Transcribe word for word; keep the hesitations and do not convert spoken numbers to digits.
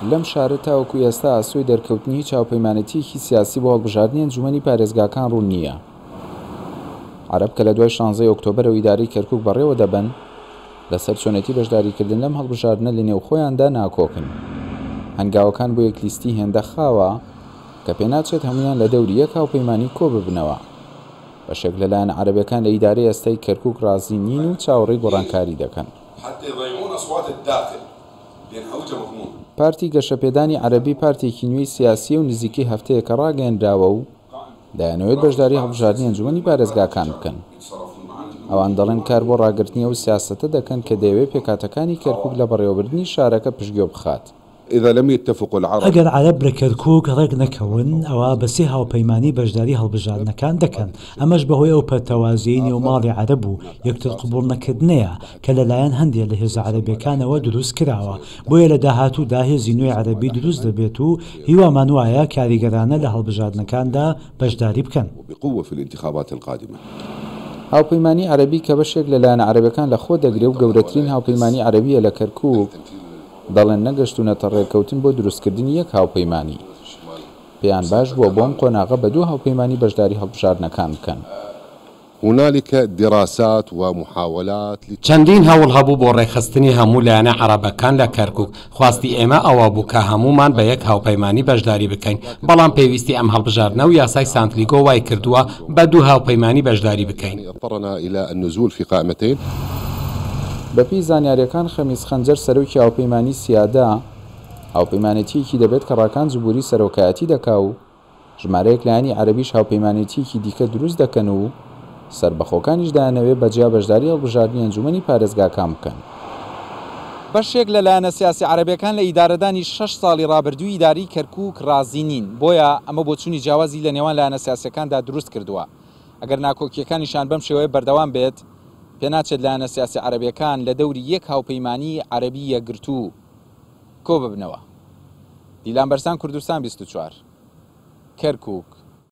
لەم شارە تاوەکو ئێستا ئاسۆی دەرکەوتنی هیچ هاوپەیمانێتییەکی سیاسی بۆ هەڵبژاردنی ئەنجوومەنی پارێزگاکان ڕوون نییە. عەرەب کە لە دوای شانزەی ئۆکتۆبەرەوە ئیدارەی کەرکووک بەڕێوە دەبەن، لەسەر چۆنێتی بەشداریکردن لەم هەڵبژاردنە لە نێوخۆیاندا ناکۆکن. هەنگاوەکان بۆ یەک لیستی هێندە خاوە کە پێناچێت هەموویان لە دەوری یەک هاوپەیمانی کۆ ببنەوە. بەشێک لە لایەنە عەرەبەکان لە ئیدارەی ئێستای کەرکووک ڕازی نین و چاوەڕێی گۆڕانکاری دەکەن. پارتی گەشەپێدانی عەرەبی پارتێکی نوێی سیاسییە و نزیکەی هەفتەیەکە ڕاگەیەنراوە و دەیانەوێت بەشداری هەڵبژاردنی ئەنجومەنی پارێزگاکان بکەن. ئەوان دەڵێن کار بۆ ڕاگرتنی ئەو سیاسەتە دەکەن کە دەیەوێت پێکهاتەکانی کەرکووک لە بەڕێوەبردنی شارەکە پشتگوێ بخات. ئەگەر عەرەب لە کەرکووک ڕێک نەکەون، ئەوا بە سێ هاوپەیمانی بەشداری هەڵبژاردنەکان دەکەن، ئەمەش بەهۆی ئەو پەرتەوازەیی نێو ماڵی عەرەب و یەکتر قبوڵنەکردنەیە کە لەلایەن هەندێ لە هێزە عەرەبیەکانەوە دروست کراوە، بۆیە لە داهاتوودا هێزی نوێی عەرەبی دروست دەبێت و هیوامان وایە کاریگەرانە لە هەڵبژاردنەکاندا بەشداری بکەن. هاوپەیمانی عەرەبی کە بەشێک لە لایەنە عەرەبەکان لە خۆ دەگرێ و گەورەترین هاوپەیمانی عەرەبیە لە کەرکووک، دەڵێن نەگەشتوونەتە ڕێککەوتن بۆ دروستکردنی یەک هاوپەیمانی. پێیان باش بووە بۆ ئەم قۆناغە بە دوو هاوپەیمانی بەشداری هەڵبژاردنەکان بکەن. هنالک دراسات ومحاولات. چەندین هەوڵ هەبوو بۆ ڕێکخستنی هەموو لایەنە عەرەبەکان لە کەرکووک. خواستی ئێمە ئەوە بوو کە هەموومان بە یەک هاوپەیمانی بەشداری بکەین، بەڵام پێویستی ئەم هەڵبژاردنە و یاسای سانتلیگۆ وای کردووە بە دوو هاوپەیمانی بەشداری بکەین. اضطرنا الى النزول في قائمتين. بەپێی زانیارییەکان خەمیس خەنجەر سەرۆکی هاوپەیمانی سیادە هاوپەیمانێتییەکی دەبێت کە ڕاکان جبوری سەرۆکایەتی دەکا و ژمارەیەک لایەنی عەرەبیش هاوپەیمانێتییەکی دیکە دروست دەکەن و سەربەخۆکانیش دەیانەوێت بەجیا بەشداری هەڵبژاردنی ئەنجومەنی پارێزگاکان بکەن. بەشێک لە لایەنە سیاسی عەرەبیەکان لە ئیدارەدانی شەش ساڵی ڕابردووی ئیدارەی کەرکووک ڕازی نین، بۆیە ئەمە بۆچوونی جیاوازی لە نێوان لایەنە سیاسیەکاندا دروست کردووە. ئەگەر ناکۆکیەکانیشان بەم شێوەیە بەردەوام بێت، پێناچێت لایەنە سیاسی عەرەبیەکان لە دەوری یەک هاوپەیمانی عەرەبی یەکگرتوو کۆ ببنەوە. دیلان بەرزان، کوردستان بیست و چوار، کەرکووک.